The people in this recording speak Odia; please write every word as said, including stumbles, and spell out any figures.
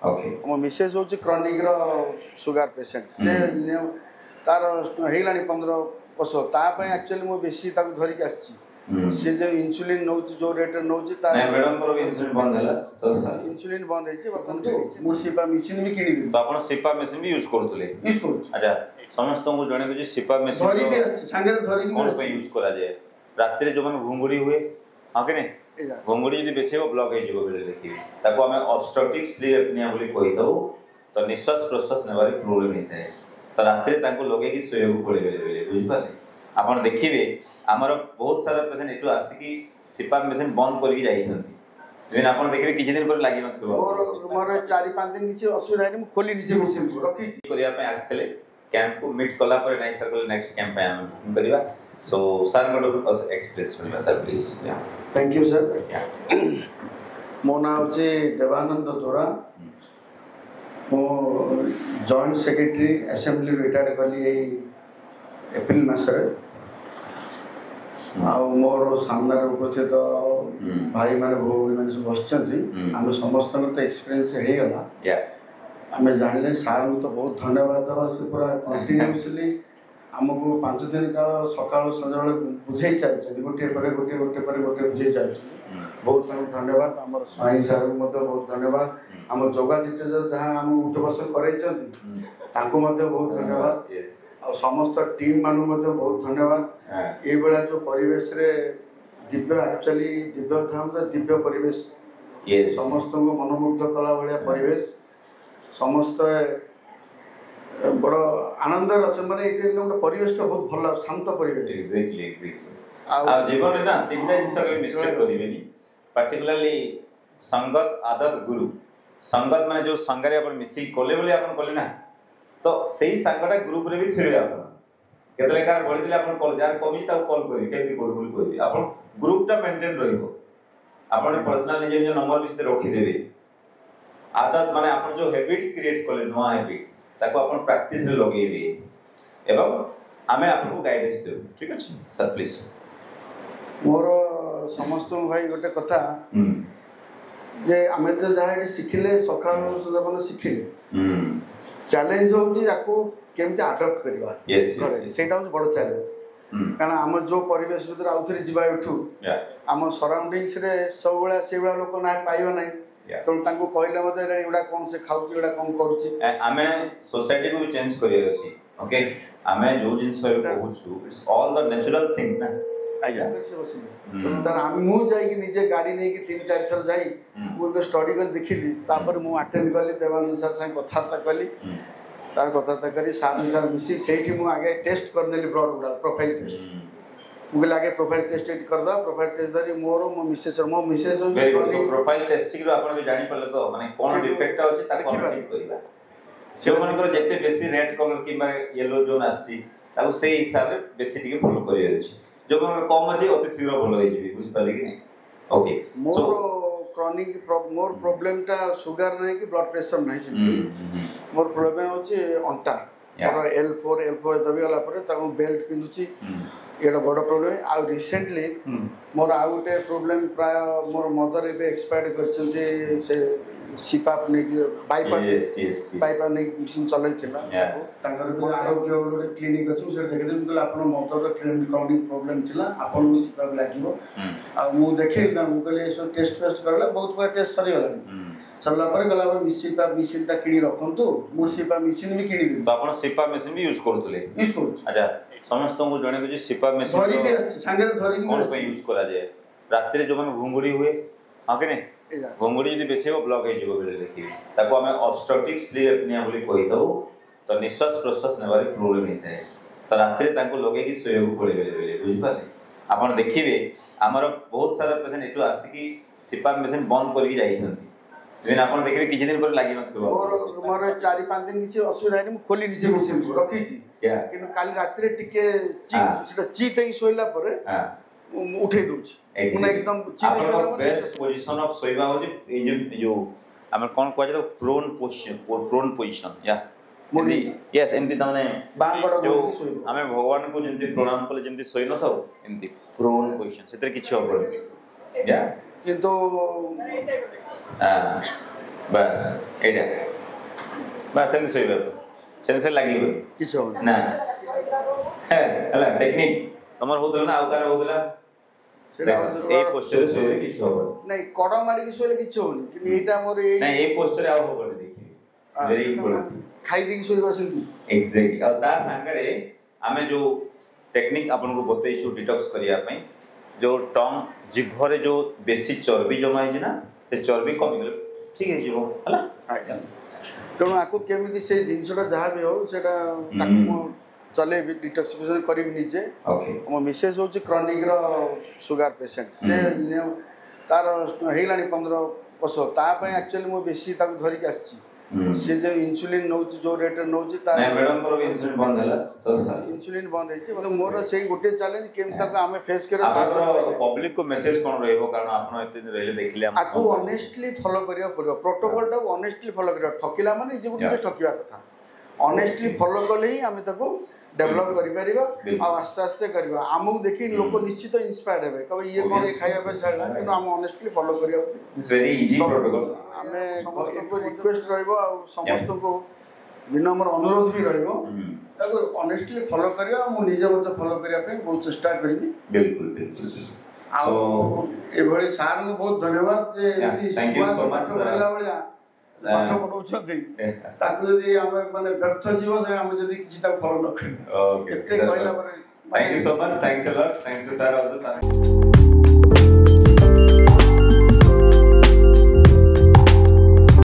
ଓକେ ମୋ ମିସେସ୍ ହେଉଛି କ୍ରନିକ୍ର ସୁଗାର ପେସେଣ୍ଟ ସେ ତାର ହେଇଗଲାଣି ପନ୍ଦର ବର୍ଷ ତା ପାଇଁ ଆକ୍ଚୁଆଲି ମୁଁ ବେଶୀ ତାକୁ ଧରିକି ଆସିଛି ସେ ଯେଉଁ ଇନ୍ସୁଲିନ୍ ନେଉଛି ଯେଉଁ ରେଟ୍ରେ ନେଉଛି ତା ନାଇଁ ମ୍ୟାଡ଼ାମଙ୍କର ବି ଇନ୍ସୁଲିନ୍ ବନ୍ଦ ହେଲା ଇନ୍ସୁଲିନ୍ ବନ୍ଦ ହେଇଛି ବର୍ତ୍ତମାନ ମୁଁ ସିପାପ୍ ମେସିନ୍ ବି କିଣିବି ତ ଆପଣ ସିପାପ୍ ମେସିନ୍ ବି ୟୁଜ୍ କରୁଥିଲେ ୟୁଜ୍ କରୁଛି ଆଚ୍ଛା ସମସ୍ତଙ୍କୁ ଜଣେଇବି ଯେ ସିପାପ୍ ମେସିନ୍ ଧରିକି ଆସିଛି ସାଙ୍ଗରେ ଧରିକି କ'ଣ ପାଇଁ ୟୁଜ୍ କରାଯାଏ ରାତିରେ ଯେଉଁମାନେ ଘୁଙ୍ଗୁଡ଼ି ହୁଏ ହଁ କି ନାଇଁ ଏଇଟା ଘୁଙ୍ଗୁଡ଼ି ଯଦି ବେଶୀ ହେବ ବ୍ଲକ୍ ହେଇଯିବ ବେଳେ ଦେଖିବେ ତାକୁ ଆମେ ଅବଷ୍ଟ୍ରକ୍ଟିଭ୍ ସ୍ଲିପ୍ ଏପନିଆ ବୋଲି କହିଥାଉ ତ ନିଶ୍ୱାସ ପ୍ରଶ୍ୱାସ ନେବାରେ ପ୍ରୋବ୍ଲେମ୍ ହେଇଥାଏ ତ ରାତିରେ ତାଙ୍କୁ ଲଗେଇକି ଶୋଇବାକୁ ପଡ଼େ ବେଳେ ବେଳେ ବୁଝିପାରିଲେ ଆପଣ ଦେଖିବେ ଆମର ବହୁତ ସାରା ପେସେଣ୍ଟ ଏଠୁ ଆସିକି ସିପାପ୍ ମେସିନ୍ ବନ୍ଦ କରିକି ଯାଇଥାନ୍ତି ଇଭେନ୍ ଆପଣ ଦେଖିବେ କିଛି ଦିନ ପରେ ଲାଗିନଥିବ ମୋର ମୋର ଚାରି ପାଞ୍ଚ ଦିନ କିଛି ଅସୁବିଧା ହେଇନି ମୁଁ ଖୋଲିନି ସେ ମେସିନ୍କୁ ରଖିଛି କରିବା ପାଇଁ ଆସିଥିଲେ କ୍ୟାମ୍ପକୁ ମିଟ୍ କଲା ପରେ ନାଇଁ ସାର୍ କହିଲେ ନେକ୍ସଟ କ୍ୟାମ୍ପ ପାଇଁ ଆମେ ବୁକିଂ କରିବା ସୋ ସାର୍ଙ୍କଠୁ ଏକ୍ସପିରିଏନ୍ସ ଶୁଣିବା sir please Thank you sir ମୋ ନାଁ ହେଉଛି ଦେବାନନ୍ଦ ଦୋରା ମୁଁ ଜଏଣ୍ଟ ସେକ୍ରେଟାରୀ ଆସେମ୍ବଲି ରିଟାୟାର୍ଡ଼ କଲି ଏଇ ଏପ୍ରିଲ ମାସରେ ଆଉ ମୋର ସାମ୍ନାରେ ଉପସ୍ଥିତ ଭାଇମାନେ ଭଉଣୀମାନେ ସବୁ ବସିଛନ୍ତି ହୁଁ। ଆମେ ସମସ୍ତଙ୍କର ତ ଏକ୍ସପିରିଏନ୍ସ ହେଇଗଲା ୟା ଆମେ ଜାଣିଲେ ସାର୍ଙ୍କୁ ତ ବହୁତ ଧନ୍ୟବାଦ ଦେବା ସେ ପୁରା କଣ୍ଟିନ୍ୟୁସଲି ଆମକୁ ପାଞ୍ଚ ଦିନ କାଳ ସକାଳୁ ସଞ୍ଜବେଳେ ବୁଝେଇ ଚାଲିଛନ୍ତି ଗୋଟିଏ ପରେ ଗୋଟିଏ ଗୋଟିଏ ପରେ ଗୋଟିଏ ବୁଝେଇ ଚାଲିଛନ୍ତି ବହୁତ ତାଙ୍କୁ ଧନ୍ୟବାଦ ଆମର ସ୍ୱାଇଁ ସାର୍ଙ୍କୁ ମଧ୍ୟ ବହୁତ ଧନ୍ୟବାଦ ଆମ ଯୋଗା ଟିଚର ଯାହା ଆମକୁ ଉଠ ବସ କରେଇଛନ୍ତି ତାଙ୍କୁ ମଧ୍ୟ ବହୁତ ଧନ୍ୟବାଦ ୟେସ୍ ଆଉ ସମସ୍ତ ଟିମ୍ ମାନଙ୍କୁ ମଧ୍ୟ ବହୁତ ଧନ୍ୟବାଦ ଏଇଭଳିଆ ଯେଉଁ ପରିବେଶରେ ଦିବ୍ୟ ଆକ୍ଚୁଆଲି ଦିବ୍ୟ ଧାମର ଦିବ୍ୟ ପରିବେଶ ୟେସ୍ ସମସ୍ତଙ୍କୁ ମନମୁଗ୍ଧ କଲା ଭଳିଆ ପରିବେଶ ସମସ୍ତେ ବଡ଼ ଆନନ୍ଦରେ ଅଛନ୍ତି ମାନେ ଏଇଠି ଗୋଟେ ପରିବେଶଟା ବହୁତ ଭଲ ଶାନ୍ତ ପରିବେଶ ଏକ୍ଜାକ୍ଟଲି ଏକ୍ଜାକ୍ଟଲି ଆଉ ଆଉ ଜୀବନରେ ନା ତିନିଟା ଜିନିଷ କେବେ ମିଷ୍ଟେକ୍ କରିବେନି ପାର୍ଟିକୁଲାରଲି ସଙ୍ଗତ ଆଦତ ଗୁରୁ ସଙ୍ଗତ ମାନେ ଯୋଉ ସାଙ୍ଗରେ ଆପଣ ମିଶିକି କଲେ ବୋଲି ଆପଣ କଲେ ନା ତ ସେଇ ସାଙ୍ଗଟା ଗ୍ରୁପରେ ବି ଥିବେ ଆପଣ କେତେବେଳେ କାହାର ବଢିଥିଲେ ଆପଣ କଲ୍ ଯାହାର କମିଛି ତାକୁ କଲ୍ କରିବେ କେମିତି କରୁ ବୋଲି କହିବେ ଆପଣ ଗ୍ରୁପଟା ମେଣ୍ଟେନ୍ ରହିବ ଆପଣ ପର୍ସନାଲ ନିଜ ନିଜ ନମ୍ବର ବି ସେଥିରେ ରଖିଦେବେ ଆଦତ ମାନେ ଆପଣ ଯୋଉ ହ୍ୟାବିଟ୍ କ୍ରିଏଟ୍ କଲେ ନୂଆ ହ୍ୟାବିଟ୍ ତାକୁ ଆପଣ ପ୍ରାକ୍ଟିସରେ ଲଗେଇବେ ଏବଂ ଆମେ ଆପଣଙ୍କୁ ଗାଇଡେନ୍ସ ଦେବୁ ଠିକ ଅଛି ସାର୍ ପ୍ଲିଜ୍ ମୋର ସମସ୍ତଙ୍କୁ ଭାଇ ଗୋଟେ କଥା ହୁଁ ଯେ ଆମେ ତ ଯାହା ଏଠି ଶିଖିଲେ ସକାଳୁ ସଞ୍ଜ ପର୍ଯ୍ୟନ୍ତ ଶିଖିଲେ ହୁଁ ଚ୍ୟାଲେଞ୍ଜ ହେଉଛି ୟାକୁ କେମିତି ଆଡପ୍ଟ କରିବା ୟେସ୍ ଘରେ ୟେସ୍ ସେଇଟା ହେଉଛି ବଡ଼ ଚ୍ୟାଲେଞ୍ଜ କାରଣ ଆମର ଯେଉଁ ପରିବେଶ ଭିତରେ ଆଉଥରେ ଯିବା ଏଠୁ ୟା ଆମ ସରାଉଣ୍ଡିଙ୍ଗସରେ ସବୁବେଳେ ସେଇଭଳିଆ ଲୋକ ନା ପାଇବା ନାହିଁ Yeah. ତେଣୁ ତାଙ୍କୁ କହିଲେ ମଧ୍ୟ ଏଗୁଡ଼ା କ'ଣ ସେ ଖାଉଛି ଏଗୁଡ଼ା କ'ଣ କରୁଛି ଆମେ ସୋସାଇଟିକୁ ବି ଚେଞ୍ଜ କରିବାର ଅଛି ଓକେ ଆମେ ଯୋଉ ଜିନିଷ ଏବେ କହୁଛୁ it's all the natural things ନା ଆଜ୍ଞା ସେ ବସିଲେ ହୁଁ। ତେଣୁ ତାର ଆମେ ମୁଁ ଯାଇକି ନିଜେ ଗାଡ଼ି ନେଇକି ତିନି ଚାରି ଥର ଯାଇ ହୁଁ। ମୁଁ ଏକ ଷ୍ଟଡି କରି ଦେଖିଲି ତାପରେ ମୁଁ ଆଟେଣ୍ଡ କଲି ଦେବାନନ୍ଦ ସାର୍ ସାଙ୍ଗେ କଥାବାର୍ତ୍ତା କଲି ହୁଁ। ତାର କଥାବାର୍ତ୍ତା କରି ସାର୍ ସାର୍ ମିଶି ସେଇଠି ମୁଁ ଆଗେ ଟେଷ୍ଟ କରିନେଲି ବ୍ଲଡ଼ ଗୁଡ଼ା ପ୍ରୋଫାଇଲ୍ ଟେଷ୍ଟ ହୁଁ। ମୁଁ କହିଲି ଆଗେ ପ୍ରୋଫାଇଲ୍ ଟେଷ୍ଟ ଏଠି କରିଦେବା ପ୍ରୋଫାଇଲ୍ ଟେଷ୍ଟ ଧରି ମୋର ମୋ ମିସେସ୍ର ମୋ ମିସେସ୍ ଭେରି ଗୁଡ୍ ସୋ ହେଉଛି ପ୍ରୋଫାଇଲ ଟେଷ୍ଟିଂ ରୁ ଆପଣ ବି ଜାଣିପାରିଲେ ତ ମାନେ କ'ଣ ସେଠୁ ଡିଫେକ୍ଟ ଅଛି ତାକୁ ଆମେ ଦେଖିପାରିଲେ। ଠିକ କରିବା ଯେଉଁମାନଙ୍କର ଯେତେ ବେଶୀ ରେଡ୍ କଲର କିମ୍ବା ୟେଲୋ ଜୋନ୍ ଆସିଛି ତାକୁ ସେଇ ହିସାବରେ ବେଶୀ ଟିକେ ଫଲୋ କରିବାର ଅଛି ଯେଉଁମାନଙ୍କର କମ୍ ଅଛି ଅତି ଶୀଘ୍ର ଭଲ ହେଇଯିବେ ବୁଝିପାରିଲେ କି ନାଇଁ ଓକେ ମୋର କ୍ରନିକ୍ ମୋର ପ୍ରୋବ୍ଲେମଟା ସୁଗାର ନାହିଁ କି ବ୍ଲଡ଼ ପ୍ରେସର ନାହିଁ ସେମିତି ମୋର ପ୍ରୋବ୍ଲେମ ହେଉଛି ଅଣ୍ଟା Yeah. ମୋର ଏଲ୍ ଫୋର୍ ଏଲ୍ ଫୋର୍ ଦବିଗଲା ପରେ ତାକୁ ବେଲ୍ଟ ପିନ୍ଧୁଛି ଏଇଟା ବଡ଼ ପ୍ରୋବ୍ଲେମ ଆଉ ରିସେଣ୍ଟଲି ମୋର ଆଉ ଗୋଟେ ପ୍ରୋବ୍ଲେମ ପ୍ରାୟ ମୋର ମଦର ଏବେ ଏକ୍ସପାୟାର୍ଡ କରିଛନ୍ତି ସେ ସିପାପ୍ ନେଇକି ବାଇପାପ୍ ୟେସ୍ ୟେସ୍ ବାଇପାପ୍ ନେଇକି ମେସିନ୍ ଚଲେଇଥିଲା Yeah. ତାକୁ ତାଙ୍କର ବି ଆରୋଗ୍ୟ ଗୋଟେ କ୍ଲିନିକ୍ ଅଛି ମୁଁ ସେଇଟା ଦେଖିଥିଲି ମୁଁ କହିଲି ଆପଣ ମଦରର କ୍ରନିକ୍ ପ୍ରୋବ୍ଲେମ ଥିଲା ଆପଣଙ୍କୁ ସିପାପ୍ ଲାଗିବ ଆଉ ମୁଁ ଦେଖେଇଲି ନା ମୁଁ କହିଲି ଏସବୁ ଟେଷ୍ଟ ଫେଷ୍ଟ କରିଲା ବହୁତ ପ୍ରକାର ଟେଷ୍ଟ ସରିଗଲାଣି ସରିଲା ପରେ ଗଲା ପରେ ସିପାପ୍ ମେସିନ୍ଟା କିଣି ରଖନ୍ତୁ ମୁଁ ସିପାପ୍ ମେସିନ୍ ବି କିଣିବି ତ ଆପଣ ସିପାପ୍ ମେସିନ୍ ବି ୟୁଜ୍ କରୁଥିଲେ ୟୁଜ୍ କରୁଛି ଆଚ୍ଛା ସମସ୍ତଙ୍କୁ ଜଣେଇବି ଯେ ସିପାପ୍ ମେସିନ୍ ଧରିକି ଆସିଛି ସାଙ୍ଗରେ ଧରିକି କ'ଣ ପାଇଁ ଆସିଛି ୟୁଜ୍ କରାଯାଏ ରାତିରେ ଯେଉଁମାନେ ଘୁଙ୍ଗୁଡ଼ି ହୁଏ ହଁ କି ନାଇଁ ଏଇଟା। ଘୁଙ୍ଗୁଡ଼ି ଯଦି ବେଶୀ ହେବ ବ୍ଲକ୍ ହେଇଯିବ ବେଳେ ଦେଖିବେ ତାକୁ ଆମେ ଅବଷ୍ଟ୍ରକ୍ଟିଭ୍ ସ୍ଲିପ୍ ଏପନିଆ ବୋଲି କହିଥାଉ ତ ନିଶ୍ୱାସ ପ୍ରଶ୍ୱାସ ନେବାରେ ପ୍ରୋବ୍ଲେମ୍ ହେଇଥାଏ ତ ରାତିରେ ତାଙ୍କୁ ଲଗେଇକି ଶୋଇବାକୁ ପଡ଼େ ବେଳେ ବେଳେ ବୁଝିପାରିଲେ ଆପଣ ଦେଖିବେ ଆମର ବହୁତ ସାରା ପେସେଣ୍ଟ ଏଠୁ ଆସିକି ସିପାପ୍ ମେସିନ୍ ବନ୍ଦ କରିକି ଯାଇଥାନ୍ତି ଇଭେନ୍ ଆପଣ ଦେଖିବେ କିଛି ଦିନ ପରେ ଲାଗିନଥିବ ମୋର ମୋର ଚାରି ପାଞ୍ଚ ଦିନ କିଛି ଅସୁବିଧା ହେଇନି ମୁଁ ଖୋଲିନି ସେ ମେସିନ୍କୁ ରଖିଛି Yeah. କିନ୍ତୁ କାଲି ରାତିରେ ଟିକେ ଚି- ହଁ। ସେଟା ଚିତ୍ ହେଇକି ଶୋଇଲା ପରେ ହଁ ମୁଁ ମୁଁ ଉଠେଇ ଦଉଛି ମାନେ ଏକଦମ ଚିତ୍ ହେଇକି ଆପଣଙ୍କ ଶୋଇଲା ପରେ ବେଷ୍ଟ ପୋଜିସନ ଅଫ୍ ଶୋଇବା ହେଉଛି ଏଇ ଯୋଉ ଏଇ ଯୋଉ ଆମର କ'ଣ କୁହାଯାଏ ତାକୁ ପ୍ରୋନ୍ ପୋଜିସନ ପ୍ରୋନ୍ ପୋଜିସନ ୟା ମୋଡ଼ି। ୟେସ୍ ଏମିତି ତାମାନେ ବାଁ କଡ଼ ଯୋଉ ମୋଡ଼ିକି ଶୋଇବ ଆମେ ଭଗବାନଙ୍କୁ ଯେମିତି ପ୍ରଣାମ କଲେ ଯେମିତି ଶୋଇ ନଥାଉ ଏମିତି ପ୍ରୋନ୍ ପୋଜିସନ ସେଥିରେ କିଛି ହବନି ୟା କିନ୍ତୁ ହଁ ବାସ୍ ଏଇଟା ବାସ୍ ସେମିତି ଶୋଇବେ ଆପଣ ସେମିତି ସେ ଲାଗିବନି କିଛି ହବନି ନା ହେଲା ଟେକ୍ନିକ୍ ତମର ହଉଥିଲା ନା ଆଉ କାହାର ହଉଥିଲା ସେଇଟା ଦେଖ, ହଉଛି ଏଇ ପୋସ୍ଚରରେ ଶୋଇଲେ କିଛି ହବନି ନାଇଁ କଡ଼ ମାଡ଼ିକି ଶୋଇଲେ କିଛି ହଉନି କିନ୍ତୁ ଏଇଟା ମୋର ଏଇ ନାଇଁ ଏଇ ପୋସ୍ଚରରେ ଆଉ ହବନି ଦେଖିବେ ଭେରି ଇମ୍ପୋର୍ଟାଣ୍ଟ ଖାଇ ଦେଇକି ଶୋଇବା ସେମିତି ଏକ୍ଜାକ୍ଟଲି ଆଉ ତା ସାଙ୍ଗରେ ଆମେ ଯୋଉ ଟେକ୍ନିକ୍ ଆପଣଙ୍କୁ ବତେଇଛୁ ଡିଟକ୍ସ କରିବା ପାଇଁ ଯୋଉ ଟଙ୍ଗ ଜିଭରେ ଯୋଉ ବେଶୀ ଚର୍ବି ଜମା ହେଇଛି ନା ସେ ଚର୍ବି କମିଗଲେ ଠିକ ହେଇଯିବ ହେଲା ଆଜ୍ଞା ତେଣୁ ଆକୁ କେମିତି ସେଇ ଜିନିଷଟା ଯାହା ବି ହଉ ସେଇଟା ତାକୁ ମୁଁ ଚଲେଇବି ଡିଟକ୍ସିଫିକେସନ କରିବି ନିଜେ ଓକେ ମୋ ମିସେସ୍ ହେଉଛି କ୍ରନିକ୍ର ସୁଗାର ପେସେଣ୍ଟ ସେ ନେ- ତାର ହେଇଗଲାଣି ପନ୍ଦର ବର୍ଷ ତା ପାଇଁ ଆକ୍ଚୁଆଲି ମୁଁ ବେଶୀ ତାକୁ ଧରିକି ଆସିଛି ସେ ଯେଉଁ ଇନ୍ସୁଲିନ୍ ନେଉଛି ଯେଉଁ ରେଟ୍ରେ ନେଉଛି ତାର ନାଇଁ ମ୍ୟାଡ଼ାମଙ୍କର ବି ଇନ୍ସୁଲିନ୍ ବନ୍ଦ ହେଲା ଇନ୍ସୁଲିନ୍ ବନ୍ଦ ହେଇଛି ମାନେ ମୋର ସେଇ ଗୋଟେ ଚ୍ୟାଲେଞ୍ଜ କେମିତି ତାକୁ ଆମେ ଫେସ୍ କରିବା ଆପଣଙ୍କର ସାହାଯ୍ୟ କରିବେ। ପବ୍ଲିକ କୁ ମେସେଜ କଣ ରହିବ କାରଣ ଆପଣ ଏତେ ଦିନ ରହିଲେ ଦେଖିଲେ ଆମ ଆକୁ ଅନେଷ୍ଟଲି ଫଲୋ କରିବାକୁ ପଡ଼ିବ ପ୍ରୋଟୋକଲଟାକୁ ଅନେଷ୍ଟଲି ଫଲୋ କରିବା ଠକିଲା ମାନେ ନିଜକୁ ଟିକେ ଠକିବା କଥା ଅନେଷ୍ଟଲି ଫଲୋ କଲେ ହିଁ ଆମେ ତାକୁ ଡେଭଲପ୍ କରିପାରିବା ବିଲକୁଲ। ଆଉ ଆସ୍ତେ ଆସ୍ତେ କରିବା ଆମକୁ ଦେଖି ଲୋକ ନିଶ୍ଚିତ ଇନ୍ସପାୟାର୍ଡ ହେବେ କହିବେ ଇଏ କଣ ଏ ଖାଇବା ପାଇଁ ଛାଡ଼ିଲା କିନ୍ତୁ ଆମେ ଅନେଷ୍ଟଲି ଫଲୋ କରିବାକୁ ପଡ଼ିବ It's very easy protocol ଆମେ ସମସ୍ତଙ୍କୁ ରିକ୍ୱେଷ୍ଟ ରହିବ ଆଉ ସମସ୍ତଙ୍କୁ ବିନମ୍ର ଅନୁରୋଧ ବି ରହିବ ତାକୁ ଅନେଷ୍ଟଲି ଫଲୋ କରିବା ମୁଁ ନିଜେ ମଧ୍ୟ ଫଲୋ କରିବା ପାଇଁ ବହୁତ ଚେଷ୍ଟା କରିବି ବିଲକୁଲ ବିଲକୁଲ ଆଉ ଏଭଳି ସାର୍ଙ୍କୁ ବହୁତ ଧନ୍ୟବାଦ ଯେ ଏମିତି thank you so much, ପାଠ ପଢିଲା ଭଳିଆ ପାଠ ପଢଉଛନ୍ତି ତାକୁ ଯଦି ଆମେ ମାନେ ବ୍ୟର୍ଥ ଯିବ ଯେ ଆମେ ଯଦି କିଛି ତାକୁ ଫଲୋ ନ କରିବା ଓକେ ଏତେ କହିଲା ପରେ Thank you so much. Thanks a lot. Thanks to sir also.